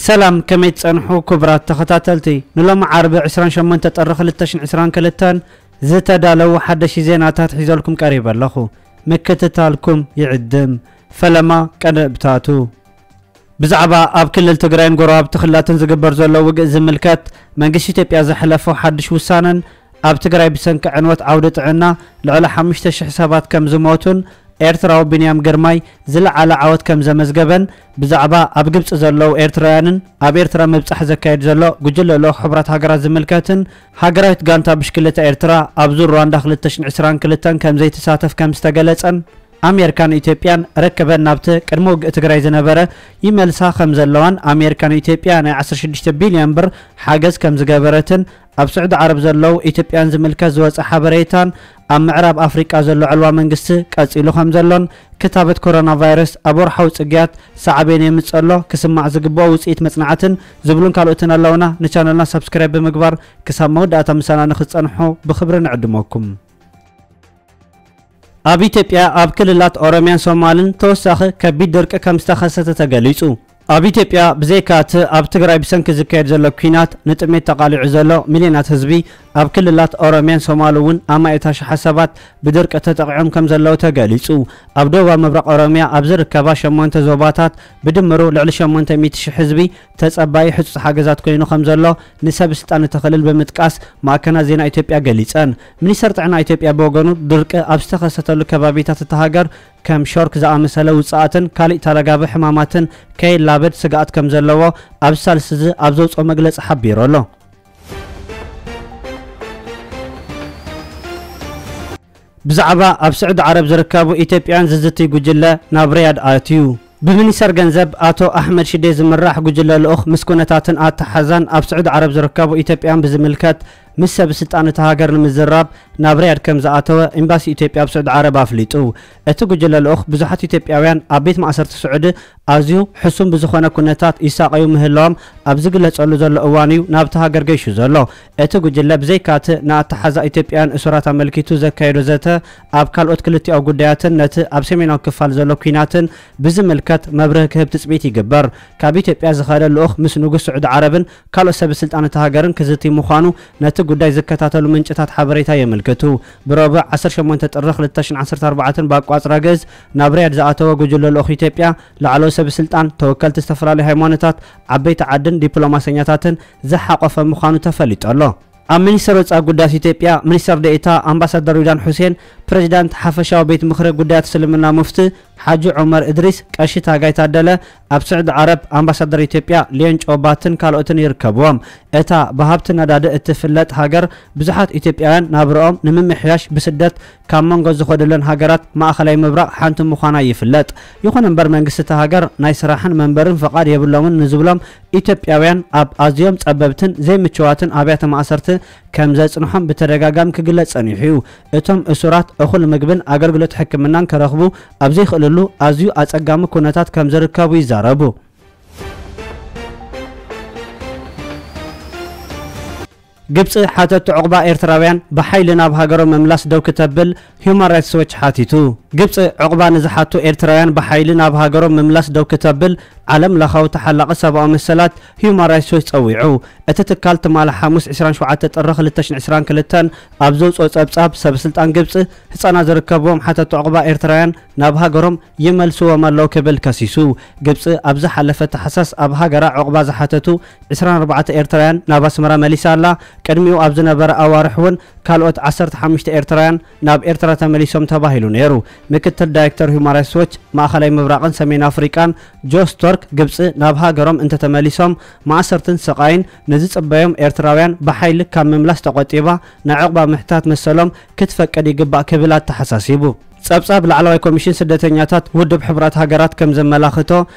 ሰላም፣ ከመይ ትጸንሑ ክቡራት ተኸታተልቲ? ንሎሚ ዓርቢ ዕስራን ሸሞንተ ጥሪ ክልተ ሽሕን ዕስራን ክልተን ዝተዳለዉ ሓደሽቲ ዜናታት ሒዘልኩም ቀሪበ ኣለኹ። ምክትታልኩም ይዕድም። ፈለማ ቀንብታቱ። ብዛዕባ ኣብ ክልል ትግራይን ጎረባብቲ ክልላትን ዝግበር ዘሎ ውግእ ዝምልከት መንግስቲ ኢትዮጵያ ዘሕለፎ ሓድሽ ውሳነን ኣብ ትግራይ ብሰንኪ ዕንወት ዓውዲ ጥዕና ልዕሊ ሓሙሽተ ሽሕ ሰባት ከም ዝሞቱን ኤርትራዊ ቢንያም ግርማይ ዝለዓለ ዓወት ከም ዘመዝገበን ብዛዕባ ኣብ ግብጺ ዘለዉ ኤርትራውያንን ኣብ ኤርትራ ምብጻሕ ዘካየድ ዘሎ ጉጅለ ልኡኽ ሕቡራት ሃገራት ዝምልከትን ሃገራዊት ጋንታ ብሽክለታ ኤርትራ ኣብ ዙር ሩዋንዳ ክልተ ሽሕን ዕስራን ክልተን ከም ዘይትሳተፍ ከም ዝተገለጸን ኣሜሪካን ኢትዮጵያን ርክበን ናብቲ ቅድሚ ውግእ ትግራይ ዝነበረ ይመልሳ ከም ዘለዋን ኣሜሪካን ኢትዮጵያ ናይ ዓሰርተ ሽዱሽተ ቢልዮን ብር ሓገዝ ከም ዝገበረትን ኣብ ስዑዲ ዓረብ ዘለዉ ኢትዮጵያን ዝምልከት ዝወጸ ሓበሬታን ኣብ ምዕራብ ኣፍሪቃ ዘሎ ዕልዋ መንግስቲ ቀጺሉ ከም ዘሎን ክታበት ኮሮና ቫይረስ ኣብ ወርሓዊ ጽግያት ሳዕቤን የምጽእ ኣሎ ክስማዕ ዝግብኦ ውጽኢት መጽናዕትን ዝብሉን ካልኦትን ኣለውና። ንቻነልና ሳብስክራይብ ብምግባር ክሳብ መወዳእታ ምሳና ንክትጸንሑ ብክብሪ ንዕድመኩም። ኣብ ኢትዮጵያ ኣብ ክልላት ኦሮሚያን ሶማልን ተወሳኺ ከቢድ ድርቂ ከም ዝተኸሰተ ተገሊጹ። ኣብ ኢትዮጵያ ብዘይካ እቲ ኣብ ትግራይ ብሰንኪ ዝካየድ ዘሎ ኲናት ንጥሜት ተቓሊዑ ዘሎ ሚልዮናት ህዝቢ፣ ኣብ ክልላት ኦሮሚያን ሶማል እውን ኣማኢት ኣሽሓት ሰባት ብድርቂ ተጠቒዖም ከም ዘለዉ ተገሊጹ። ኣብ ደቡባዊ ምብራቕ ኦሮሚያ ኣብ ዝርከባ ሸሞንተ ዞባታት ብድምሩ ልዕሊ ሸሞንተ ሚእቲ ሽሕ ህዝቢ ተጸባዪ ህጹጽ ሓገዛት ኮይኑ ከም ዘሎ ንሰብ ስልጣን እቲ ክልል ብምጥቃስ ማዕከናት ዜና ኢትዮጵያ ገሊጸን። ሚኒስተር ጥዕና ኢትዮጵያ ብወገኑ ድርቂ ኣብ ዝተኸሰተሉ ከባቢታት እታ ሃገር ከም ሾርክ ዝኣመሰለ ውጽኣትን ካሊእ ተረጋቢ ሕማማትን ከይላበድ ስግኣት ከም ዘለዎ ኣብዚ ሳልስቲ እዚ ኣብ ዘውጽኦ መግለጺ ሓቢሩ ኣሎ። ብዛዕባ ኣብ ስዑዲ ዓረብ ዝርከቡ ኢትዮጵያውያን ዝዝትይ ጉጅለ ናብ ሪያድ ኣትዩ። ብሚኒስተር ገንዘብ ኣቶ ኣሕመድ ሽዴ ዝምራሕ ጉጅለ ልኡኽ ምስ ኩነታትን ኣተሓዛን ኣብ ስዑዲ ዓረብ ዝርከቡ ኢትዮጵያውያን ብዝምልከት ምስ ሰብ ስልጣን እታ ሃገር ንምዝራብ ናብ ሪያድ ከም ዝኣተወ ኤምባሲ ኢትዮጵያ ኣብ ስዑዲ ዓረብ ኣፍሊጡ። እቲ ጉጅለ ልኡኽ ብዙሓት ኢትዮጵያውያን ኣብ ቤት ማእሰርቲ ስዑዲ ኣዝዩ ሕሱም ብዝኾነ ኩነታት ይሳቐዩ ምህላዎም ኣብ ዝግለጸሉ ዘሎ እዋን እዩ ናብቲ ሃገር ገይሹ ዘሎ። እቲ ጉጅለ ብዘይካቲ ንኣተሓዛ ኢትዮጵያውያን እሱራት ኣመልኪቱ ዘካየዶ ዘተ ኣብ ካልኦት ክልቲኣዊ ጉዳያትን ነቲ ኣብ ሰሜናዊ ክፋል ዘሎ ኲናትን ብዝምልከት መብርሂ ክህብ ትጽቢት ይግበር። ካብ ኢትዮጵያ ዝኸደ ልኡኽ ምስ ንጉስ ስዑዲ ዓረብን ካልኦት ሰብ ስልጣን እታ ሃገርን ክዝቲ ምዃኑ ነቲ ጉዳይ ዝከታተሉ ምንጭታት ሓበሬታ የመልክቱ። ብረቡዕ ዓሰርተ ሸሞንተ ጥሪ ክልተ ሽሕን ዓሰርተ ኣርባዕተን ብኣቋጽራ ግእዝ ናብ ሪያድ ዝኣተወ ጉጅለ ልኡኽ ኢትዮጵያ ላዕለዎት ሰብ ስልጣን፣ ተወከልቲ ዝተፈላለዩ ሃይማኖታት፣ ዓበይቲ ዓድን ዲፕሎማሰኛታትን ዝሓቖፈ ምዃኑ ተፈሊጡ ኣሎ። ኣብ ሚኒስቴር ወጻኢ ጉዳያት ኢትዮጵያ ሚኒስትር ዴኤታ ኣምባሳደር ሪድዋን ሑሴን፣ ፕሬዚዳንት ሓፈሻዊ ቤት ምኽሪ ጉዳያት እስልምና ሙፍቲ ሓጂ ዑመር እድሪስ፣ ቀሺ ታጋይ ታደለ፣ ኣብ ስዑዲ ዓረብ ኣምባሳደር ኢትዮጵያ ሊዮን ጮባትን ካልኦትን ይርከብዎም። እታ ብሃብቲ ነዳዲ እትፍለጥ ሃገር ብዙሓት ኢትዮጵያውያን ናብርኦም ንምምሕያሽ ብስደት ካብ መንጎ ዝኸዱለን ሃገራት ማእኸላይ ምብራቕ ሓንቲ ምዃና ይፍለጥ። ይኹን እምበር መንግስቲ እታ ሃገር ናይ ስራሕን መንበርን ፍቓድ የብሎምን ንዝብሎም ኢትዮጵያውያን ኣብ ኣዝዮም ጸበብትን ዘይምችዋትን ኣብያተ ማእሰርቲ ከም ዘጽንሖም ብተደጋጋሚ ክግለጽ ጸኒሑ እዩ። እቶም እሱራት እኹል ምግብን ኣገልግሎት ሕክምናን ክረኽቡ ኣብ ዘይኽእልሉ ኣዝዩ ኣጸጋሚ ኩነታት ከም ዝርከቡ ይዛረቡ። ግብጺ ሓተቲ ዑቕባ ኤርትራውያን ብሓይሊ ናብ ሃገሮም ምምላስ ደው ክተብል ሁማን ራይትስ ዎች ሓቲቱ። ግብጺ ዑቕባ ንዝሓቱ ኤርትራውያን ብሓይሊ ናብ ሃገሮም ምምላስ ደው ክተብል ዓለም ለኻዊ ተሓላቒ ሰብኣዊ መሰላት ሁማን ራይትስ ዎች ጸዊዑ። እቲ ትካል ትማሊ ሓሙስ ዕስራን ሸውዓተ ጥሪ ክልተ ሽሕን ዕስራን ክልተን ኣብ ዘውጽኦ ጸብጻብ ሰብ ስልጣን ግብጺ ህጻናት ዝርከብዎም ሓተቲ ዑቕባ ኤርትራውያን ናብ ሃገሮም ይመልስዎም ኣለዉ ክብል ከሲሱ። ግብጺ ኣብ ዝሓለፈ ታሕሳስ ኣብ ሃገራ ዑቕባ ዝሓተቱ ዕስራን ኣርባዕተ ኤርትራውያን ናብ ኣስመራ መሊሳ ኣላ። ቅድሚኡ ኣብ ዝነበረ ኣዋርሕ እውን ካልኦት ዓሰርተ ሓሙሽተ ኤርትራውያን ናብ ኤርትራ ተመሊሶም ተባሂሉ ነይሩ። ምክትል ዳይሬክተር ሁማን ራይትስ ዎች ማእኸላይ ምብራቕን ሰሜን ኣፍሪቃን ጆ ስቶርክ፣ ግብጺ ናብ ሃገሮም እንተተመሊሶም ማእሰርትን ስቓይን ንዝጽበዮም ኤርትራውያን ብሓይሊ ካብ ምምላስ ተቖጢባ ናይ ዑቕባ ምሕታት መሰሎም ክትፈቅድ ይግባእ ክብል ኣተሓሳሲቡ። ጸብጻብ ላዕለዋይ ኮሚሽን ስደተኛታት ውድብ ሕቡራት ሃገራት ከም ዘመላኽቶ፣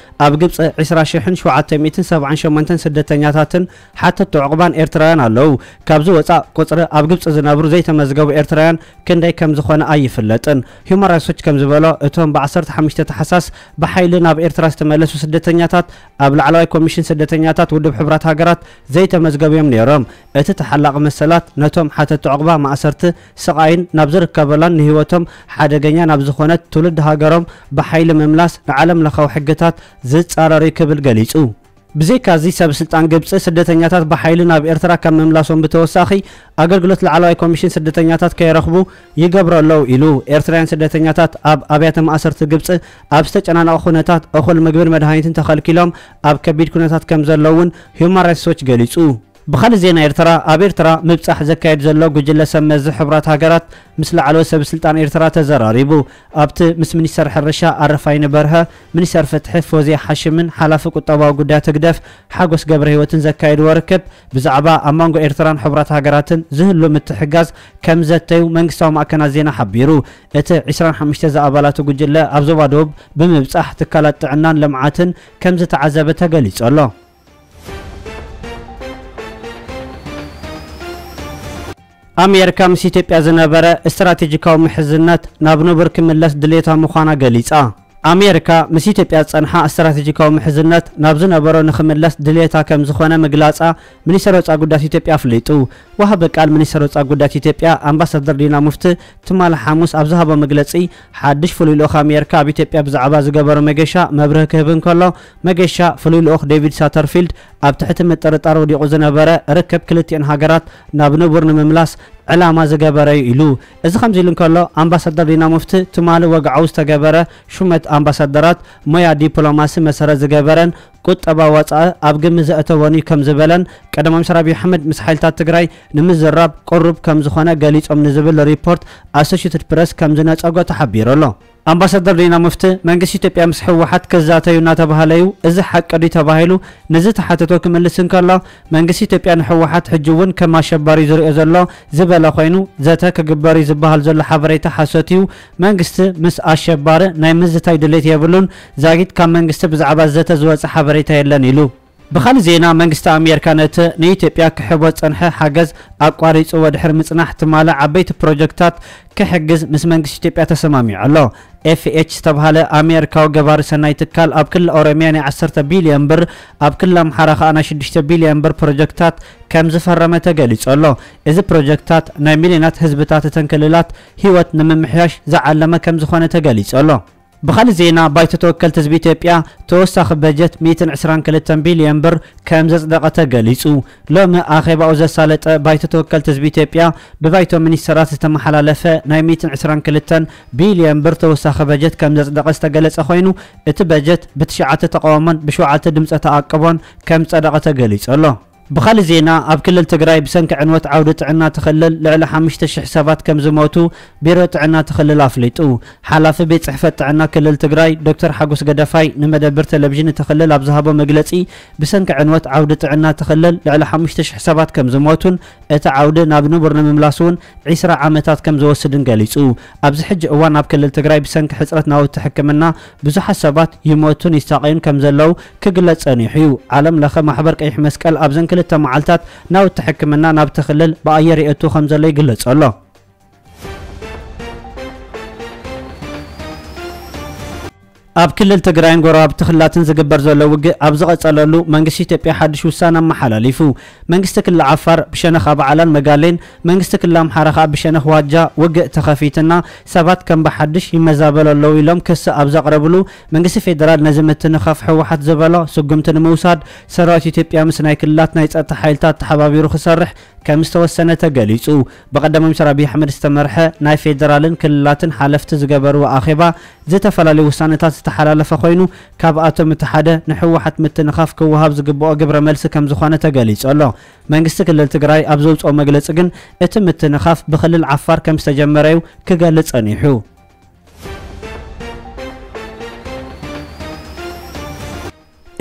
ኣብ ግብጺ ዕስራ ሽሕን ሸውዓተ ሚእትን ሰብዓን ሸሞንተን ስደተኛታትን ሓተቲ ዑቕባን ኤርትራውያን ኣለዉ። ካብዚ ወጻእ ቁጽሪ ኣብ ግብጺ ዝነብሩ ዘይተመዝገቡ ኤርትራውያን ክንደይ ከም ዝኾነ ኣይፍለጥን። ሁማን ራይትስ ዎች ከም ዝበሎ፣ እቶም ብ ዓሰርተ ሓሙሽተ ታሕሳስ ብሓይሊ ናብ ኤርትራ ዝተመለሱ ስደተኛታት ኣብ ላዕለዋይ ኮሚሽን ስደተኛታት ውድብ ሕቡራት ሃገራት ዘይተመዝገቡ እዮም ነይሮም። እቲ ተሓላቒ መሰላት ነቶም ሓተቲ ዑቕባ ማእሰርቲ ስቓይን ናብ ዝርከበላን ንህይወቶም ሓደገኛ ናብ ዝኾነት ትውልዲ ሃገሮም ብሓይሊ ምምላስ ንዓለም ለኻዊ ሕግታት ዝጻረር እዩ ክብል ገሊጹ። ብዘይካዚ ሰብ ስልጣን ግብፂ ስደተኛታት ብሓይሊ ናብ ኤርትራ ካብ ምምላሶም ብተወሳኺ ኣገልግሎት ላዕለዋይ ኮሚሽን ስደተኛታት ከይረኽቡ ይገብሩ ኣለዉ ኢሉ። ኤርትራውያን ስደተኛታት ኣብ ኣብያተ ማእሰርቲ ግብፂ ኣብ ዝተጨናነቐ ኩነታት እኹል ምግብን መድሃኒትን ተኸልኪሎም ኣብ ከቢድ ኩነታት ከም ዘለውን ሂዩማን ራይትስ ዎች ገሊጹ። ብኻልእ ዜና ኤርትራ፣ ኣብ ኤርትራ ምብጻሕ ዘካየድ ዘሎ ጉጅለ ሰብ መዚ ሕቡራት ሃገራት ምስ ላዕለዎት ሰብ ስልጣን ኤርትራ ተዘራሪቡ። ኣብቲ ምስ ሚኒስተር ሕርሻ ኣረፋይነ በርሀ፣ ሚኒስተር ፍትሒ ፎዝያ ሓሽምን ሓላፊ ቁጠባዊ ጉዳያት ህግደፍ ሓጎስ ገብረ ህይወትን ዘካየድዎ ርክብ ብዛዕባ ኣብ መንጎ ኤርትራን ሕቡራት ሃገራትን ዝህሉ ምትሕጋዝ ከም ዘተዩ መንግስታዊ ማዕከናት ዜና ሓቢሩ። እቲ ዕስራን ሓሙሽተ ዝኣባላቱ ጉጅለ ኣብ ዞባ ደቡብ ብምብጻሕ ትካላት ጥዕናን ልምዓትን ከም ዝተዓዘበ ተገሊጹ ኣሎ። ኣሜሪካ ምስ ኢትዮጵያ ዝነበረ ስትራቴጂካዊ ምሕዝነት ናብ ንቡር ክምለስ ድሌታ ምዃና ገሊጻ። ኣሜሪካ ምስ ኢትዮጵያ ዝጸንሓ ስትራቴጂካዊ ምሕዝነት ናብ ዝነበሮ ንኽምለስ ድሌታ ከም ዝኾነ ምግላጻ ሚኒስተር ወጻኢ ጉዳያት ኢትዮጵያ ኣፍሊጡ። ወሃቢ ቃል ሚኒስተር ወጻኢ ጉዳያት ኢትዮጵያ ኣምባሳደር ዲና ሙፍቲ ትማሊ ሓሙስ ኣብ ዝሃቦ መግለጺ፣ ሓድሽ ፍሉይ ልኡኽ ኣሜሪካ ኣብ ኢትዮጵያ ብዛዕባ ዝገበሮ መገሻ መብርሂ ክህብ እንከሎ፣ መገሻ ፍሉይ ልኡኽ ዴቪድ ሳተርፊልድ ኣብ ትሕቲ ምጥርጣር ወዲቑ ዝነበረ ርክብ ክልቲኤን ሃገራት ናብ ንቡር ንምምላስ ዕላማ ዝገበረ እዩ ኢሉ። እዚ ከምዚ ኢሉ እንከሎ፣ ኣምባሳደር ዲና ሙፍቲ ትማሊ ወግዓዊ ዝተገበረ ሹመት ኣምባሳደራት ሞያ ዲፕሎማሲ መሰረት ዝገበረን ቁጠባ ወጻኢ ኣብ ግምት ዘእተወን እዩ ከም ዝበለን ቀዳማይ ሚኒስትር ኣብይ ኣሕመድ ምስ ሓይልታት ትግራይ ንምዝራብ ቅሩብ ከም ዝኾነ ገሊጾም ንዝብል ሪፖርት ኣሶሽትድ ፕረስ ከም ዝነጸጎ ተሓቢሩ ኣሎ። ኣምባሳደር ዲና ሙፍቲ፣ መንግስቲ ኢትዮጵያ ምስ ህወሓት ክዛተዩ እናተባህለ እዩ፣ እዚ ሓቂ ድዩ ተባሂሉ ንዝተሓተቶ ክምልስ እንከሎ፣ መንግስቲ ኢትዮጵያ ንህወሓት ሕጂ እውን ከም ኣሸባሪ ዝሪኦ ዘሎ ዝበለ ኮይኑ፣ ዘተ ክግበር እዩ ዝበሃል ዘሎ ሓበሬታ ሓሶት እዩ፣ መንግስቲ ምስ ኣሸባሪ ናይ ምዝታይ ድሌት የብሉን፣ ዛጊት ካብ መንግስቲ ብዛዕባ ዘተ ዝወፀ ሓበሬታ የለን ኢሉ። ብኻልእ ዜና፣ መንግስቲ ኣሜሪካ ነቲ ንኢትዮጵያ ክሕቦ ዝጸንሐ ሓገዝ ኣቋሪጹ ወድሕሪ ምጽናሕ ትማሊ ዓበይቲ ፕሮጀክታት ክሕግዝ ምስ መንግስቲ ኢትዮጵያ ተሰማሚዑ ኣሎ። ኤፍ ኤች ዝተባህለ ኣሜሪካዊ ገባሪ ሰናይ ትካል ኣብ ክልል ኦሮሚያ ናይ ዓሰርተ ቢልዮን ብር፣ ኣብ ክልል ኣምሓራ ከኣ ናይ ሽዱሽተ ቢልዮን ብር ፕሮጀክታት ከም ዝፈረመ ተገሊጹ ኣሎ። እዚ ፕሮጀክታት ናይ ሚልዮናት ህዝብታት እተን ክልላት ህይወት ንምምሕያሽ ዝዓለመ ከም ዝኾነ ተገሊጹ ኣሎ። ብኻልእ ዜና፣ ባይቶ ተወከልቲ ህዝቢ ኢትዮጵያ ተወሳኺ በጀት ሚእትን ዕስራን ክልተን ቢልዮን ብር ከም ዘጽደቐ ተገሊጹ። ሎሚ ኣኼባኡ ዘሳለጠ ባይቶ ተወከልቲ ህዝቢ ኢትዮጵያ ብባይቶ ሚኒስተራት ዝተመሓላለፈ ናይ ሚእትን ዕስራን ክልተን ቢልዮን ብር ተወሳኺ በጀት ከም ዘጽደቐ ዝተገለጸ ኮይኑ፣ እቲ በጀት ብትሽዓተ ተቓውሞን ብሸውዓተ ድምፀ ተኣቅቦን ከም ዝጸደቐ ተገሊጹ ኣሎ። ብኻልእ ዜና፣ ኣብ ክልል ትግራይ ብሰንኪ ዕንወት ዓውዲ ጥዕና እቲ ክልል ልዕሊ ሓሙሽተ ሽሕ ሰባት ከም ዝሞቱ ቢሮ ጥዕና እቲ ክልል ኣፍሊጡ። ሓላፊ ቤት ጽሕፈት ጥዕና ክልል ትግራይ ዶክተር ሓጎስ ገደፋይ ንመደብር ቴሌቪዥን እቲ ክልል ኣብ ዝሃቦ መግለጺ፣ ብሰንኪ ዕንወት ዓውዲ ጥዕና እቲ ክልል ልዕሊ ሓሙሽተ ሽሕ ሰባት ከም ዝሞቱን እቲ ዓውዲ ናብ ንቡር ንምምላስ እውን ዒስራ ዓመታት ከም ዝወስድን ገሊጹ። ኣብዚ ሕጂ እዋን ኣብ ክልል ትግራይ ብሰንኪ ሕጽረት ናውቲ ሕክምና ብዙሓት ሰባት ይሞቱን ይሳቐዩን ከም ዘለዉ ክግለጽ ጸኒሑ እዩ። ዓለም ለኸ ማሕበር ቀይሕ መስቀል ኣብዘን ክልተ መዓልታት ናውቲ ሕክምና ናብቲ ክልል ብኣየር የእቱ ከም ዘሎ ይግለጽ ኣሎ። ኣብ ክልል ትግራይን ጎረባብቲ ክልላትን ዝግበር ዘሎ ውግእ ኣብ ዝቐጸለሉ፣ መንግስቲ ኢትዮጵያ ሓድሽ ውሳነ ኣመሓላሊፉ። መንግስቲ ክልል ዓፋር ብሸነኽ ኣባዓላን መጋሌን፣ መንግስቲ ክልል ኣምሓራ ከኣ ብሸነኽ ዋጃ ውግእ ተኸፊትና፣ ሰባት ከም ብሓድሽ ይመዛበሉ ኣለዉ ኢሎም ክሲ ኣብ ዘቕረብሉ፣ መንግስቲ ፌደራል ነዚ ምትንኻፍ ህወሓት ዝበሎ ስጉምቲ ንምውሳድ ሰራዊት ኢትዮጵያ ምስ ናይ ክልላት ናይ ጸጥታ ሓይልታት ተሓባቢሩ ክሰርሕ ከም ዝተወሰነ ተገሊጹ። ብቀዳማይ ሚኒስትር ኣብይ ኣሕመድ ዝተመርሐ ናይ ፌደራልን ክልላትን ሓለፍቲ ዝገበርዎ ኣኼባ ዝተፈላለዩ ውሳነታት ዝተሓላለፈ ኮይኑ፣ ካብኣቶም እቲ ሓደ ንህወሓት ምትንኻፍ ክወሃብ ዝግብኦ ግብረ መልሲ ከም ዝኾነ ተገሊጹ ኣሎ። መንግስቲ ክልል ትግራይ ኣብ ዘውፅኦ መግለፂ ግን፣ እቲ ምትንኻፍ ብክልል ዓፋር ከም ዝተጀመረ እዩ ክገልጽ ጸኒሑ።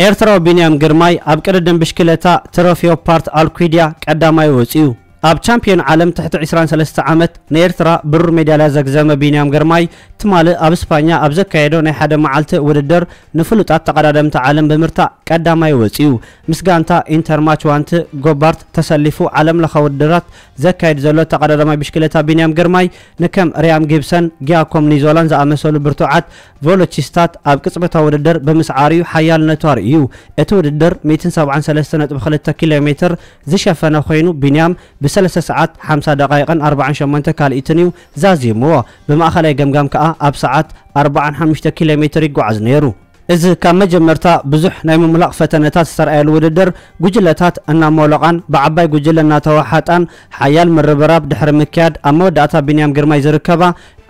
ኤርትራዊ ቢንያም ግርማይ ኣብ ቅድድም ብሽክለታ ትሮፊዮ ፓርት ኣልኩድያ ቀዳማይ ወጺኡ። ኣብ ቻምፒዮን ዓለም ትሕቲ ዕስራን ሰለስተ ዓመት ንኤርትራ ብሩር ሜዳልያ ዘግዘመ ቢንያም ግርማይ፣ ትማሊ ኣብ ስፓኛ ኣብ ዘካየዶ ናይ ሓደ መዓልቲ ውድድር ንፍሉጣት ተቐዳደምቲ ዓለም ብምርታዕ ቀዳማይ ወጺኡ። ምስ ጋንታ ኢንተርማች ዋንቲ ጎባርት ተሰሊፉ ዓለም ለኸ ውድድራት ዘካይድ ዘሎ ተቐዳዳማይ ብሽክለታ ቢንያም ግርማይ፣ ንከም ሪያም ጊብሰን፣ ጊያኮም ኒዞላን ዝኣመሰሉ ብርቱዓት ቮሎቺስታት ኣብ ቅጽበታዊ ውድድር ብምስዓር እዩ ሓያልነቱ ኣርእዩ። እቲ ውድድር ሚእትን ሰብዓን ሰለስተ ነጥቢ ክልተ ኪሎ ሜትር ዝሸፈነ ኮይኑ፣ ቢንያም ብሰለስተ ሰዓት ሓምሳ ደቓይቕን ኣርባዓን ሸሞንተ ካልኢትን እዩ ዛዚምዎ። ብማእኸላይ ገምጋም ከኣ ኣብ ሰዓት ኣርባዓን ሓሙሽተ ኪሎ ሜትር ይጓዓዝ ነይሩ። እዚ ካብ መጀመርታ ብዙሕ ናይ ምሙላቕ ፈተነታት ዝተረኣየሉ ውድድር፣ ጉጅለታት እናሞለቓን ብዓባይ ጉጅለ እናተዋሓጣን ሓያል ምርብራብ ድሕሪ ምክያድ፣ ኣብ መወዳእታ ቢንያም ግርማይ ዝርከባ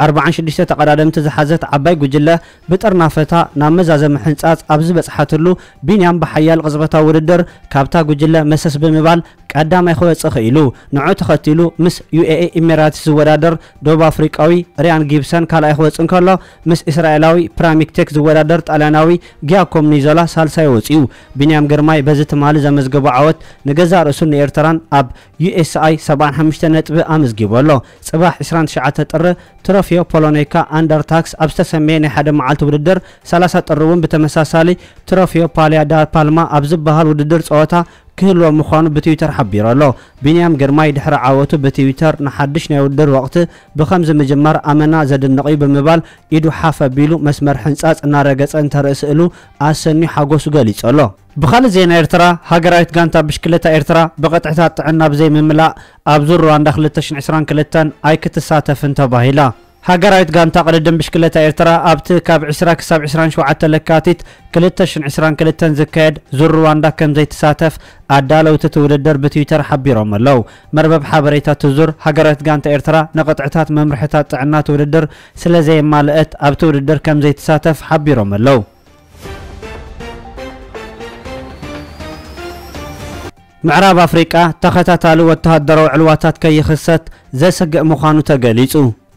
ኣርብዓን ሽዱሽተ ተቐዳደምቲ ዝሓዘት ዓባይ ጉጅለ ብጥርናፈታ ናብ መዛዘሚ ሕንጻጽ ኣብ ዝበጽሓትሉ፣ ቢንያም ብሓያል ቅጽበታዊ ውድድር ካብታ ጉጅለ መሰስ ብምባል ቀዳማይ ክወጽእ ክኢሉ። ንዑ ተኸቲሉ ምስ ዩ ኤ ኢ ኢሚራትስ ዝወዳደር ደቡብ ኣፍሪቃዊ ሪያን ጊብሰን ካልኣይ ክወጽእ እንከሎ፣ ምስ እስራኤላዊ ፕራሚክቴክ ዝወዳደር ጣልያናዊ ጊያኮም ኒዞላ ሳልሳይ ወጺኡ። ቢንያም ግርማይ በዚ ትማሊ ዘመዝገቦ ዓወት ንገዛእ ርእሱን ንኤርትራን ኣብ ዩ ኤስ ኣይ ሰብዓን ሓሙሽተ ነጥቢ ኣመዝጊቡ ኣሎ። ጽባሕ ዕስራን ትሽዓተ ጥሪ ትሮፊዮ ፖሎኔካ ኣንደርታክስ ኣብ ዝተሰመየ ናይ ሓደ መዓልቲ ውድድር፣ ሰላሳ ጥሪ እውን ብተመሳሳሊ ትሮፊዮ ፓሊያ ዳ ፓልማ ኣብ ዝበሃል ውድድር ጸወታ ክህልዎ ምዃኑ ብትዊተር ሓቢሩ ኣሎ። ቢንያም ግርማይ ድሕሪ ዓወቱ ብትዊተር ንሓድሽ ናይ ውድድር ወቕቲ ብኸምዚ ምጅማር ኣመና ዘድንቕ እዩ ብምባል ኢዱ ሓፍ ኣቢሉ መስመር ሕንጻጽ እናረገጸ እንተርኢ ስእሉ ኣሰንዩ ሓጎሱ ገሊጹ ኣሎ። ብኻልእ ዜና ኤርትራ፣ ሃገራዊት ጋንታ ብሽክለታ ኤርትራ ብቕጥዕታት ጥዕና ብዘይምምላእ ኣብ ዙር ሩዋንዳ ክልተ ሽሕን ዕስራን ክልተን ኣይክትሳተፍን ተባሂላ። ሃገራዊት ጋንታ ቅድድም ብሽክለታ ኤርትራ ኣብቲ ካብ ዕስራ ክሳብ ዕስራን ሸውዓተ ለካቲት ክልተ ሽሕን ዕስራን ክልተን ዝካየድ ዙር ሩዋንዳ ከም ዘይትሳተፍ ኣዳለውቲ እቲ ውድድር ብትዊተር ሓቢሮም ኣለዉ። መርበብ ሓበሬታ እቲ ዙር፣ ሃገራዊት ጋንታ ኤርትራ ንቕጥዕታት መምርሕታት ጥዕና እቲ ውድድር ስለ ዘየማልአት ኣብቲ ውድድር ከም ዘይትሳተፍ ሓቢሮም ኣለዉ። ምዕራብ ኣፍሪቃ ተኸታታሊ ወተሃደራዊ ዕልዋታት ከይኽሰት ዘስግእ ምዃኑ ተገሊጹ።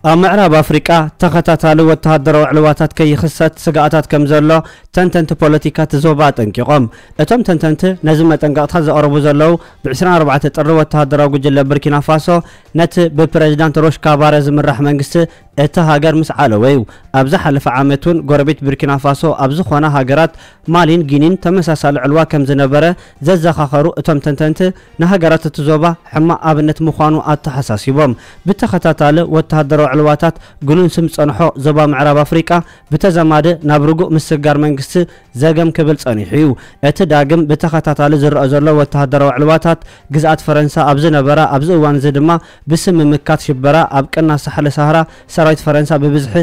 ኣብ ምዕራብ ኣፍሪቃ ተኸታታሊ ወተሃደራዊ ዕልዋታት ከይኽሰት ስግኣታት ከም ዘሎ ተንተንቲ ፖለቲካ እቲ ዞባ ኣጠንቂቖም። እቶም ተንተንቲ ነዚ መጠንቀቕታ ዘቕርቡ ዘለዉ፣ ብ ዕስራን ኣርባዕተን ጥሪ ወተሃደራዊ ጉጅለ ቡርኪና ፋሶ ነቲ ብፕረዚዳንት ሮሽ ካባረ ዝምራሕ መንግስቲ እቲ ሃገር ምስ ዓለወ እዩ። ኣብ ዝሓለፈ ዓመት እውን ጎረቤት ቡርኪና ፋሶ ኣብ ዝኾና ሃገራት ማሊን ጊኒን ተመሳሳሊ ዕልዋ ከም ዝነበረ ዘዘኻኸሩ እቶም ተንተንቲ፣ ንሃገራት እቲ ዞባ ሕማቕ ኣብነት ምዃኑ ኣተሓሳሲቦም። ብተኸታታሊ ወተሃደራዊ ዕልዋታት ግኑን ስም ዝጸንሖ ዞባ ምዕራብ ኣፍሪቃ ብተዘማዲ ናብ ርጉእ ምስግጋር መንግስቲ ዘገም ክብል ጸኒሑ እዩ። እቲ ዳግም ብተኸታታሊ ዝረኣ ዘሎ ወተሃደራዊ ዕልዋታት፣ ግዝኣት ፈረንሳ ኣብ ዝነበራ ኣብዚ እዋን እዚ ድማ ብስም ምምካት ሽበራ ኣብ ቅናስ ሳሕለ ሳህራ ሰራዊት ፈረንሳ ብብዝሒ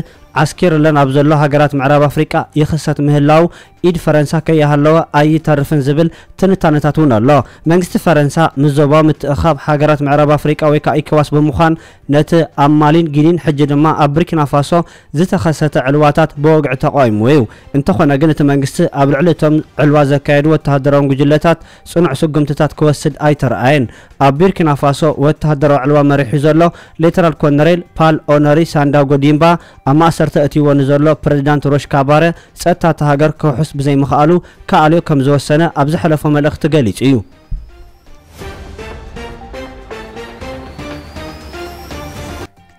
ዓስኪሩለን ኣብ ዘሎ ሃገራት ምዕራብ ኣፍሪቃ ይኽሰት ምህላው ኢድ ፈረንሳ ከይሃለወ ኣይተርፍን ዝብል ትንታነታት እውን ኣሎ። መንግስቲ ፈረንሳ ምስ ዞባዊ ምትእኻብ ሃገራት ምዕራብ ኣፍሪቃ ወይ ከዓ ኢኮዋስ ብምዃን ነቲ ኣብ ማሊን ጊኒን ሕጂ ድማ ኣብ ቡርኪና ፋሶ ዝተኸሰተ ዕልዋታት ብወግዒ ተቃዊምዎ እዩ። እንተኾነ ግን እቲ መንግስቲ ኣብ ልዕሊ እቶም ዕልዋ ዘካየዱ ወተሃደራውን ጉጅለታት ጽኑዕ ስጉምትታት ክወስድ ኣይተረኣየን። ኣብ ቡርኪና ፋሶ ወተሃደራዊ ዕልዋ መሪሑ ዘሎ ሌተናል ኮነሬል ፓል ኦነሪ ሳንዳጎ ዲምባ ኣብ ማእሰርቲ ኣእትይዎ ንዘሎ ፕረዚዳንት ሮሽ ካባረ ጸጥታ እታ ሃገር ክውሕስ ብዘይምኽኣሉ ክኣልዮ ከም ዝወሰነ ኣብ ዝሐለፎ መልእኽቲ ገሊጹ እዩ።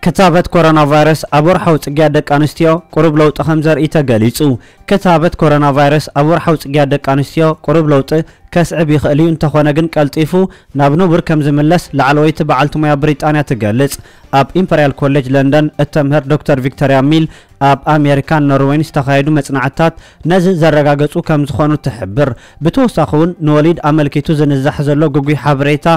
ክታበት ኮሮና ቫይረስ ኣብ ወርሓዊ ጽግያት ደቂ ኣንስትዮ ቁሩብ ለውጢ ከም ዘርኢ ተገሊጹ። ክታበት ኮሮና ቫይረስ ኣብ ወርሓዊ ጽግያት ደቂ ኣንስትዮ ቁሩብ ለውጢ ከስዕብ ይኽእል እዩ፣ እንተኾነ ግን ቀልጢፉ ናብ ንቡር ከም ዝምለስ ላዕለወይቲ በዓልቲ ሞያ ብሪጣንያ ትገልጽ። ኣብ ኢምፐርያል ኮሌጅ ለንደን እተምህር ዶክተር ቪክቶርያ ሚል ኣብ ኣሜሪካን ኖርዌይን ዝተኻየዱ መጽናዕትታት ነዚ ዘረጋገጹ ከም ዝኾኑ ትሕብር። ብተወሳኺ እውን ንወሊድ ኣመልኪቱ ዝንዛሕ ዘሎ ግጉይ ሓበሬታ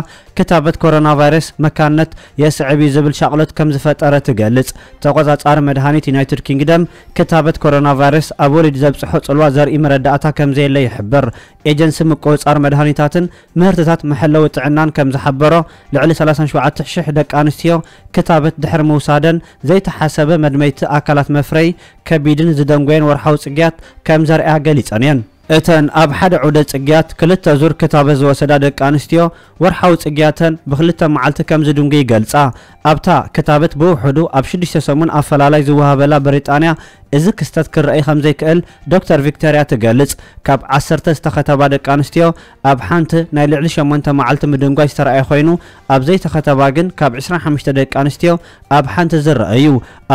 ክታበት ኮሮና ቫይረስ መካንነት የስዕብ እዩ ዝብል ሻቕሎት ከም ዝፈጠረ ትገልጽ። ተቖጻጻሪ መድሃኒት ዩናይትድ ኪንግደም ክታበት ኮሮና ቫይረስ ኣብ ወሊድ ዘብጽሖ ጽልዋ ዘርኢ መረዳእታ ከም ዘየለ ይሕብር። ኤጀንሲ ምቁጽጻር መድሃኒታትን ምህርትታት መሐለዊ ጥዕናን ከም ዝሓበሮ፣ ልዕሊ ሰላሳን ሸውዓተ ሽሕ ደቂ ኣንስትዮ ክታበት ድሕሪ ምውሳደን ዘይተሓሰበ መድመይቲ ኣካላት መፍረይ ከቢድን ዝደንጎየን ወርሓዊ ጽግያት ከም ዘርኣያ ገሊጸን እየን። እተን ኣብ ሓደ ዑደ ጽግያት ክልተ ዙር ክታበት ዝወሰዳ ደቂ ኣንስትዮ ወርሓዊ ጽግያተን ብክልተ መዓልቲ ከም ዝድንጉ ይገልጻ። ኣብታ ክታበት ብውሑዱ ኣብ ሽዱሽተ ሰሙን ኣፈላላይ ዝወሃበላ ብሪጣንያ፣ እዚ ክስተት ክረኣይ ከም ዘይክእል ዶክተር ቪክቶርያ ትገልጽ። ካብ ዓሰርተ ዝተኸተባ ደቂ ኣንስትዮ ኣብ ሓንቲ ናይ ልዕሊ ሸሞንተ መዓልቲ ምድንጓይ ዝተረኣየ ኮይኑ፣ ኣብ ዘይተኸተባ ግን ካብ ዕስራን ሓሙሽተ ደቂ ኣንስትዮ ኣብ ሓንቲ ዝረኣዩ።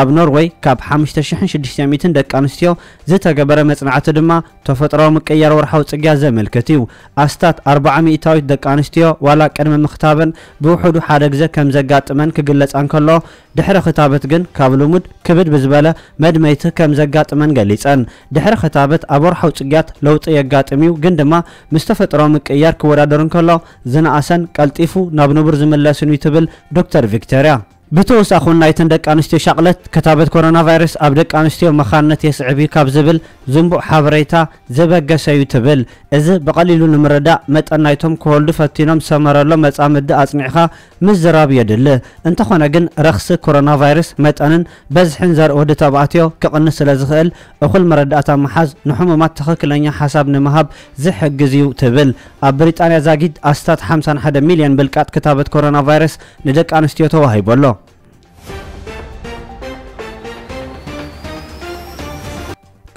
ኣብ ኖርወይ ካብ ሓሙሽተ ሽሕን ሽዱሽተ ሚእትን ደቂ ኣንስትዮ ዝተገበረ መጽናዕቲ ድማ ተፈጥሮኣዊ ምቅይያር ወርሓዊ ጽግያት ዘመልክት እዩ። ኣስታት ኣርብዓ ሚእታዊት ደቂ ኣንስትዮ ዋላ ቅድሚ ምኽታበን ብውሑዱ ሓደ ግዜ ከም ዘጋጥመን ክግለጻ እንከሎ፣ ድሕሪ ክታበት ግን ካብ ልሙድ ክብድ ብዝበለ መድመይቲ ከም ዘጋጥመን ገሊጸን። ድሕሪ ክታበት ኣብ ወርሓዊ ጽግያት ለውጢ የጋጥም እዩ፣ ግን ድማ ምስ ተፈጥሮኣዊ ምቅይያር ክወዳደር እንከሎ ዝነኣሰን ቀልጢፉ ናብ ንቡር ዝምለስን እዩ ትብል ዶክተር ቪክቶርያ። ብተወሳኹ ናይተን ደቂ ኣንስትዮ ሻቕለት ክታበት ኮሮና ቫይረስ ኣብ ደቂ ኣንስትዮ መኻንነት የስዕብ እዩ ካብ ዝብል ዝንቡዕ ሓበሬታ ዝበገሰ እዩ ትብል። እዚ ብቐሊሉ ንምርዳእ መጠን ናይቶም ክወልዱ ፈቲኖም ዝሰመረሎም መጻምዲ ኣጽኒዕኻ ምዝራብ የድሊ። እንተኾነ ግን ረኽሲ ኮሮና ቫይረስ መጠንን በዝሕን ዘርኢ ወዲ ተባዕትዮ ክቕንስ ስለ ዝኽእል እኹል መረዳእታ ምሓዝ ንሕሙማት ትኽክለኛ ሓሳብ ንምሃብ ዝሕግዝ እዩ ትብል። ኣብ ብሪጣንያ ዛጊድ ኣስታት ሓምሳን ሓደ ሚልዮን ብልቃጥ ክታበት ኮሮና ቫይረስ ንደቂ ኣንስትዮ ተዋሂቡ ኣሎ።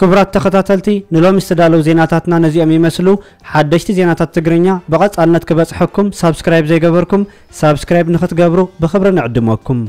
ክቡራት ተኸታተልቲ ንሎሚ ዝተዳለዉ ዜናታትና ነዚኦም ይመስሉ። ሓደሽቲ ዜናታት ትግርኛ ብቐጻልነት ክበጽሐኩም ሳብስክራይብ ዘይገበርኩም ሳብስክራይብ ንኽትገብሩ ብኽብሪ ንዕድመኩም።